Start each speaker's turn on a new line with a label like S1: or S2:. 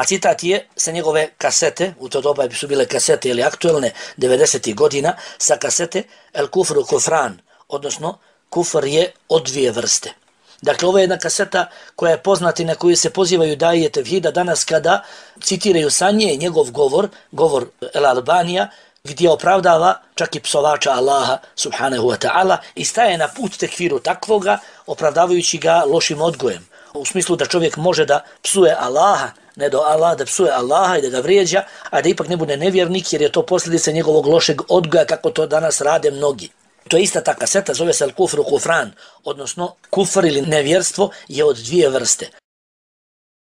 S1: A citat je sa njegove kasete, u to doba su bile kasete ili aktuelne 90. godina, sa kasete El kufru kufran, odnosno kufr je od dvije vrste. Dakle, ovo je jedna kaseta koja je poznata i na koju se pozivaju daje tevhida danas kada citiraju sa nje njegov govor El Albanija, gdje opravdava čak i psovača Allaha subhanahu wa ta'ala i staje na put tekfiru takvoga, opravdavajući ga lošim odgojem. U smislu da čovjek može da psuje Allaha, ne do Allah, da psuje Allaha i da ga vrijeđa, a da ipak ne bude nevjernik jer je to posljedica njegovog lošeg odgoja kako to danas rade mnogi. To je ista ta kaseta, zove se El kufru kufran, odnosno kufr ili nevjerstvo je od dvije vrste.